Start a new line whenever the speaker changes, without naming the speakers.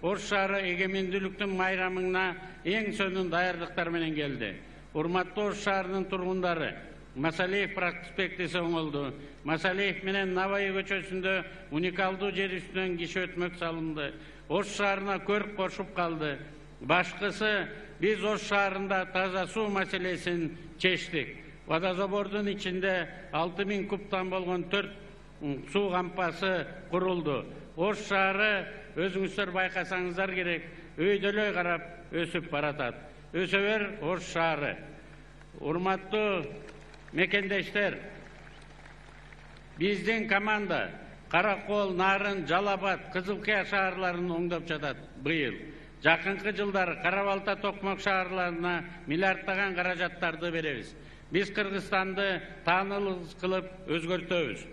Ош шаары эгемендүүлүктүн майрамына эң сонун даярдыктар менен келди. Урматтуу Ош шаарынын тургундары, Масалиев проспектиси оңолду. Масалиев менен Навай көчөсүндө уникалдуу жер үстүнөн киши өтмөк салынды. Ош шаарына көрк кошуп калды. Башкысы, биз Ош шаарында таза суу маселесин чечтик. Водозабордун ичинде 6000 кубтан болгон 4 суу кампасы курулду. Ош шаары, өзүңүздөр байкасаңыздар керек, өйдөлөй карап өсүп баратат. Өсө бер Ош шаары. Урматтуу мекендештер, биздин команда Каракол, Нарын, Жалабат, Кызылкыя шаарларын оңдоп жатат быйыл. Жакынкы жылдары Кара-Балта, Токмок шаарларына миллиарддаган каражаттарды беребиз. Биз Кыргызстанды таанылуу кылып өзгөртөбүз.